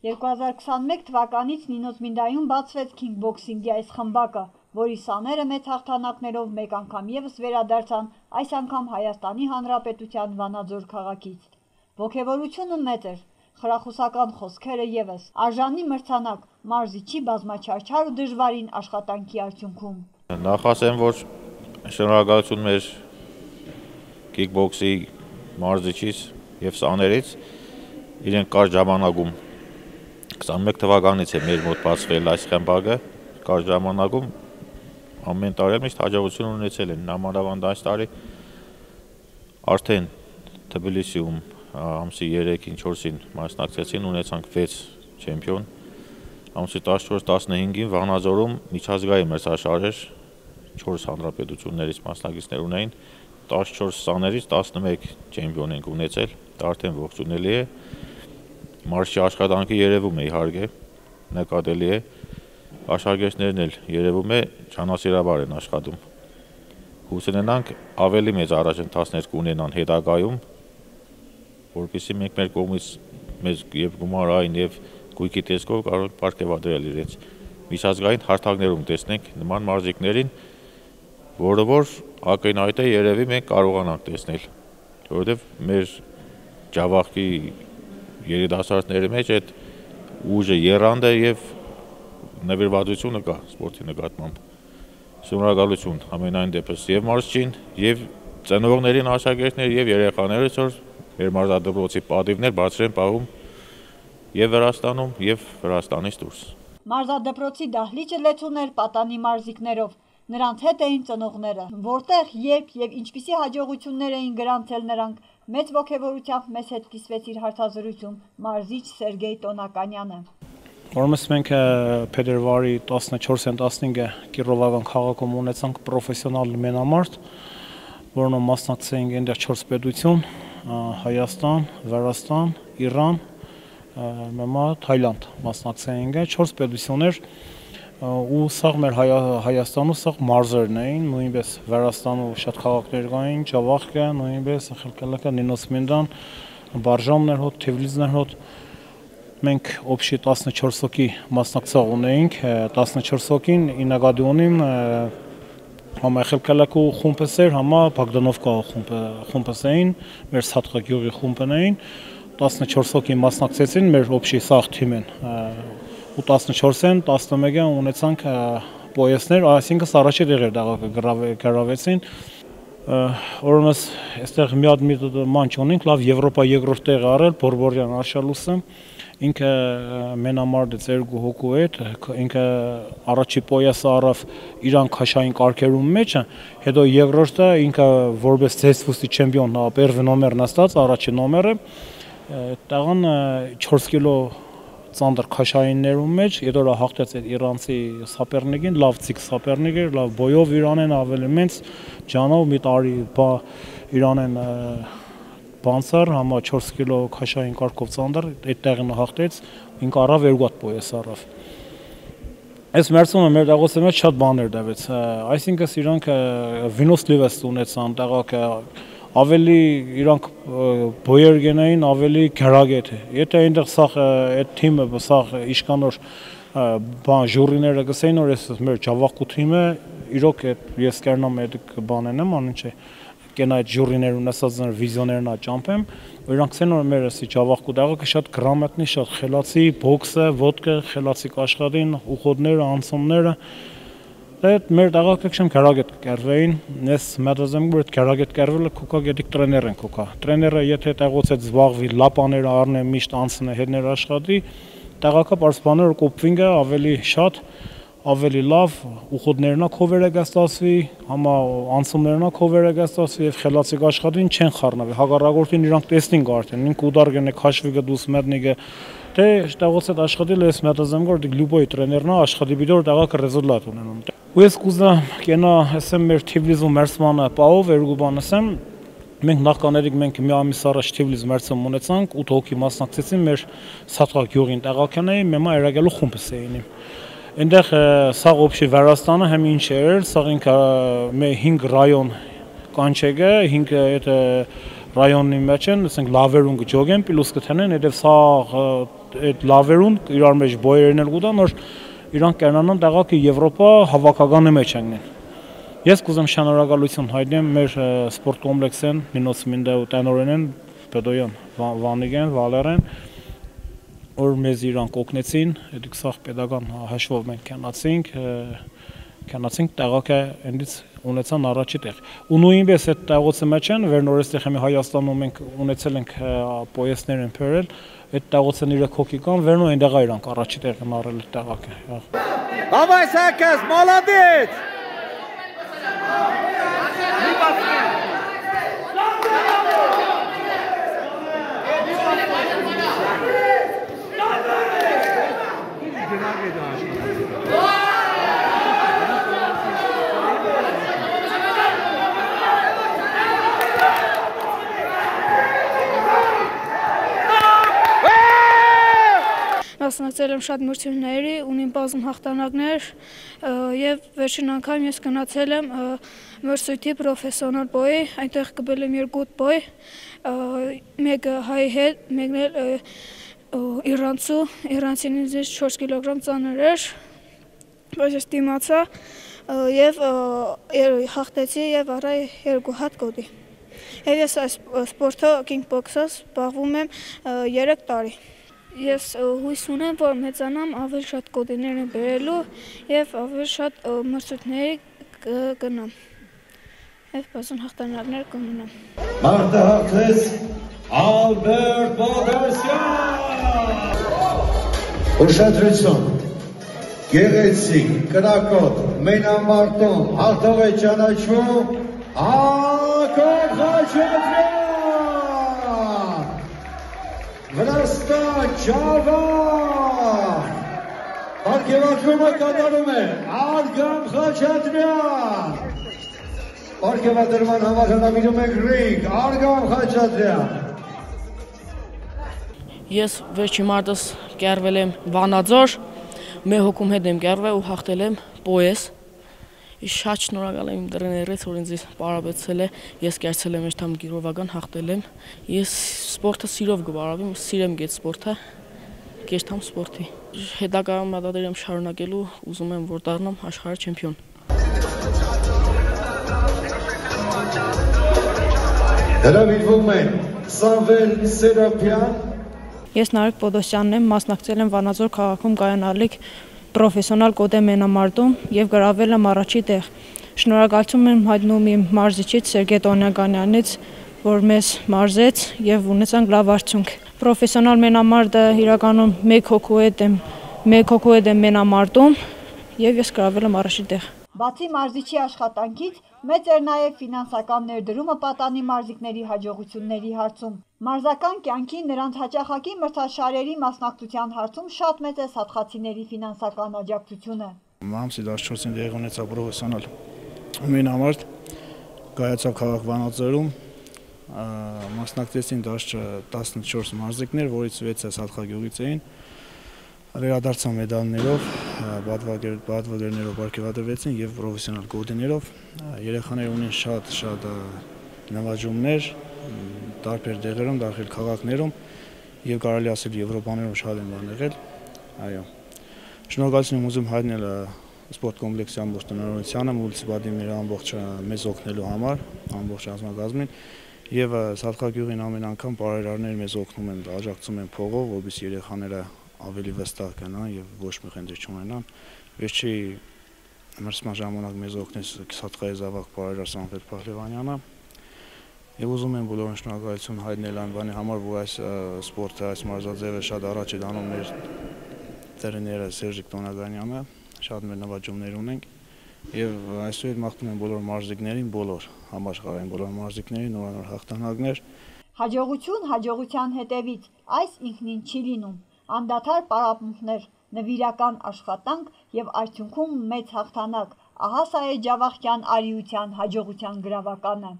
2021 թվականից Նինոզմինդայում բացվեց քինգբոքսինգի այս խմբակը, որի սաները մեծ հաղթանակներով մեկ անգամ ևս վերադարձան, այս անգամ Հայաստանի Հանրապետության Վանաձոր քաղաքից։ Ոգևորությունը մեծ էր, խրախուսական խոսքերը ևս, արժանի մրցանակ, մարզիչի բազմաչարչար ու դժվարին աշխատանքի արդյունքում։ Նախ ասեմ, որ շնորհակալություն մեր քիկբոքսի մարզիչից եւ սաներից, իրենք կարճ ժամանակում 21 թվականից է մեր մոտ բացվել այս խմբակը, կարճ ժամանակում ամեն տարի միշտ հաջողություն ունեցել են, նամանավանդ այս տարի արդեն Թբիլիսիում ամսի 3-ին, 4-ին մասնակցեցին, ունեցանք 6 չեմպիոն, ամսի 14-15-ին Վանաձորում միջազգային մրցաշարեր 4 հանրապետություններից մասնակիցներ ունեին, 14 սաներից 11 չեմպիոն ենք ունեցել, դա արդեն ողջունելի է, մարզչի աշխատանքի երևում է իհարկե, նկատելի է, աշակերտներն էլ երևում է ջանասիրաբար են աշխատում։ Հույս ունենանք ավելի մեծ առաջընթացներ կունենան հետագայում, որպեսզի մենք մեր կողմից մեզ եւ գումարային եւ գույքի տեսքով կարող ենք պարգևատրել իրենց միջազգային հարթակներում տեսնենք նման մարզիկներին, որը որ ակնհայտ է երևի մենք կարողանանք տեսնել, որովհետեւ մեր ջավախքի երիտասարդների մեջ այդ ուժը եռանդ է եւ նվիրվածությունը կա սպորտի նկատմամբ։ Շնորհակալություն ամենայն դեպս եւ մարզչին, եւ ծնողներին, աշակերտներին եւ երեխաներից, որ մեր մարզադպրոցի պատիվներ բարձր են պահում եւ Վրաստանում եւ Վրաստանից դուրս։ Մարզադպրոցի դահլիճը լեցուն էր պատանի մարզիկներով, նրանց հետ էին ծնողները, որտեղ, երբ եւ ինչպիսի հաջողություններ էին գրանցել նրանք, մեծ ոգևորությամբ մեզ հետ կիսվեց իր հարցազրույցում մարզիչ Սերգեյ Տոնականյանը։ Որպես մենք փետրվարի 14-15-ը Կիրովական քաղաքում ունեցանք պրոֆեսիոնալ մենամարտ, որոնց մասնակցեին այնտեղ 4 պետություն՝ Հայաստան, Վրաստան, Իրան, մեմա Թայլանդ մասնակցեին 4 պետություններ ու սաղ մեր Հայաստանու սաղ մարզերն էին, նույնպես Վրաստանու շատ քաղաքներ կային, Ջավախքը, նույնպես Խելքելակը, Նինոսմինդան, Բարժամներ հոտ, Թիվլիզներ հոտ, մենք օբշի 14 հոգի մասնակցող ունեինք, 14 հոգին ինագադի ունին համա Խելքելակու խումբս էր, համա Բագդանովկա խումբս էին, մեր Սաթխա գյուղի խումբն էին, 14 հոգի մասնակցեցին մեր օբշի սաղ թիմեն ու 14-ին 11-ին ունեցանք պոյեսներ, այսինքն առաջի տեղեր գրավեցին, որոնց այստեղ մի հատ ման չունենք, լավ Եվրոպա երկրորդ տեղ արել Բորբորյան Արշալուսը, ինքը մենամարտ է երկու հոգու հետ, ինքը առաջի պոյեսը առավ իրան քաշային կարգերում մեջը, հետո երկրորդը ինքը որպես ցեսվուսի չեմպիոն, պերվի նոմերն աստած, առաջի նոմերը, տաղան 4 կիլո ծանդր քաշայիններում մեջ, հետո հաղթեց այդ իրանցի սապերնիկին, լավ ցիկ սապերնիկ էր, լավ բոյով Իրանեն ավելի մեծ ջանով մի տարի Իրանեն բանցար, համա 4 կիլո քաշային կարգով ծանդր, այդ տեղին հաղթեց, ինքը առավ երկու հատ պոյես առավ։ Այս մերցումը մեր դեղոցի մեջ շատ բաներ դավեց, այսինքն իրանք վինոս լիվես ունեցան, տեղակը ավելի իրանք բոյեր գնային, ավելի գրագետ է։ Եթե այնտեղ սաղ այդ թիմը սաղ իշկանոր բան ժուրիները գսեին, որ ես մեր ջավախքու թիմը իրոք ես կերնամ այդ բանեն եմ, անին չէ, կենա այդ ժուրիներուն ասած վիզիոներն աճամփեմ, իրանք ցեն որ մեր էսի ջավախքու դաղը շատ գրամատնի, շատ խելացի, բոքսը, ոդկը, խելացի աշխատին, ուխոդները, անցումները Այդ մեր դաղակը քշեմ քարագետ կերվեին, ես մտածեմ որ այդ քարագետ կերվելը կոկա գետիկ տրեներ են կոկա։ Տրեները եթե տեղոց այդ զբաղվի, լապաները առնե, միշտ անցնե, հետներ աշխատի, դաղակը պարսպաները կոպվինգը ավելի շատ, ավելի լավ, ուխոդներնա քովերը գաստասվի, համա անցումներնա քովերը գաստասվի եւ խելացի աշխատին չեն խառնվի։ Հագարագորտին իրանք տեսնին արդեն, ինք ուդարգենը քաշվիգը դուս մեդնիգը Թե տեղոց այդ աշխատել ես մտածեմ որ լյուբոյ տրեներնա աշխատի բիդոր դաղակը ռեզուլտատ ունենում։ Ու ես կուզա կենա ասեմ մեր Թիվլիզում մերցմանը պահով երկու բան ասեմ մենք նախկաներիկ մենք մի ամիս առաջ Թիվլիզ մերցում ունեցանք 8 հոգի մասնակցեցին մեր Սաթխա գյուղին տեղականեի մեմա երագելու խումբս էին։ Այնտեղ սաղ օբշի Վրաստանը հեմ ինչ էր, սաղ ինքը մե 5 ռայոն կանչեգը 5 այդ ռայոնի մեջ են, ասենք լավերուն գջոգեն, պլյուս կթենեն, հետև սաղ այդ լավերուն իրար մեջ բոյերն էլ գուտան, որ իրանք կյանանան տեղակի Եվրոպա հավաքականի մեջ անգնեն։ Ես կուզեմ շնորհակալություն հայտնեմ մեր սպորտ կոմպլեքսին, Նինոս Մինդա ու Տենորենեն, Պետոյան, Վանիգեն, Վալերեն, որ մեզ իրանք օգնեցին, այդ սաղ pedagogan հաշվով մենք քանացինք տեղակը այնից ունեցան առաջի տեղ։ Ու նույնպես այդ տեղոցը մեջ են, վերնորեստեղ հիմա Հայաստանում մենք ունեցել ենք պոյեսներ են բերել, այդ տեղոցն իրը քոքի կան, վերնո այնտեղ իրանք առաջի տեղ են առել տեղակը։ Давай, Сакас, молодец! Մասնակցել եմ շատ մրցույթների, ունիմ բազում հաղթանակներ եւ վերջին անգամ ես գնացել եմ մրցույթի պրոֆեսիոնալ բոյի, այնտեղ կբել եմ 2 բոյ, մեկը հայ հետ, մեկն էլ իրանցինից 4 կիլոգրամ ծանր էր, բայց ես դիմացա եւ հաղթեցի եւ առա 2 հատ գոտի։ Եվ ես այս սպորտը կինգբոքսով զբաղվում եմ 3 տարի։ Ես հույս ունեմ, որ մեծանամ ավելի շատ գոտիներ եմ բերելու եւ ավելի շատ մրցույթների կգնամ։ Եվ բազում հաղթանակներ կունենամ։ Մարտը հաղթեց Ալբերտ Բողոսյան։ Ուշադրություն։ Գեղեցիկ, կրակոտ, մենամարտում հաղթող է ճանաչվում Ակոբ Խաչատրյան։ Վրաստան Ջավան, պարգևատրումը կատարում է Արգամ Խաչատրյան, պարգևատրման համար հրավիրում ենք ռինգ Արգամ Խաչատրյան։ Ես վերջի մարտս կերվել եմ Վանաձոր, մեր հոգում հետ եմ կերվել ու հաղթել եմ պոյես։ Շատ շնորհակալ եմ իմ տրեներից, որ ինձ պարապեցել է, ես կերցել եմ աշտամ գիրովական հաղթել եմ։ Ես սպորտը սիրով կբարավեմ, սիրեմ գետ սպորտը, կեշտամ սպորտի։ Հետագայում մտադիր եմ շարունակելու, ուզում եմ որ դառնամ աշխարհի չեմպիոն։ Հրավիրվում են Սամվել Սերապյան։ Ես Նարեկ Պոդոսյանն եմ, մասնակցել եմ Վանաձոր քաղաքում կայանալիք պրոֆեսիոնալ կոդե մենամարտում եւ գրավել եմ առաջի տեղ։ Շնորհակալություն եմ հայտնում իմ մարզիչից Սերգեյ Տոնյանյանից, որ մեզ մարզեց եւ ունեցանք լավ արդյունք։ Պրոֆեսիոնալ մենամարտը իրականում 1 հոգու հետ եմ մենամարտում եւ ես գրավել եմ առաջի տեղ։ Բացի մարզիչի աշխատանքից, մեծ էր նաև ֆինանսական ներդրումը պատանի մարզիկների հաջողությունների հարցում։ Մարզական կյանքի նրանց հաճախակի մրցաշարերի մասնակցության հարցում շատ մեծ է սատխացիների ֆինանսական աջակցությունը։ Մամսի 14-ին դեղի ունեցավ պրոֆեսիոնալ մենամարտ, կայացավ քաղաք Վանաձորում, մասնակցեցին 14 մարզիկներ, որից 6-ը Սատխագյուղից էին։ Վերադարձան մեդալներով, պատվոգերներով պարգևատրվեցին եւ պրոֆեսիոնալ գոտիներով։ Երեխաները ունեն շատ նվաճումներ տարբեր դեղերում, տարբեր քաղաքներում եւ կարելի ասել Եվրոպաներում շատ են բան եղել։ Այո։ Շնորհակալություն եմ ուզում հայտնել սպորտ կոմպլեքսի ամբողջ տնօրինությանը, մունիցիպալիտետի ամբողջ մեզ օգնելու համար, ամբողջ ազգամազգին եւ Սատխագյուղին ամեն անգամ բարերարներ մեզ օգնում են, աջակցում են փողով, որովհետեւ երեխաները ավելի վստահ կնան եւ ոչ մի խնդիր չունենան։ Վերջի մրցման ժամանակ մեզ օգնեց Սատխայի զավակ բարերար Սամվել Փահլևանյանը։ Եվ ուզում եմ բոլորին շնորհակալություն հայտնել այն բանի համար, որ այս սպորտը, այս մարզաձևը շատ առաջ է դանում մեր տրեները Սերժիկ Տոնականյանը, շատ մեր նվաճումներ ունենք եւ այսօր մաղթում եմ բոլոր մարզիկներին, բոլոր համաշխարհային բոլոր մարզիկներին նորանոր հաղթանակներ։ Հաջողություն հաջողության հետևից, այս ինքնին չի լինում, անդադար պարապմունքներ, նվիրական աշխատանք եւ արդյունքում մեծ հաղթանակ, ահա սա է Ջավախյան արիության հաջողության գրավականը։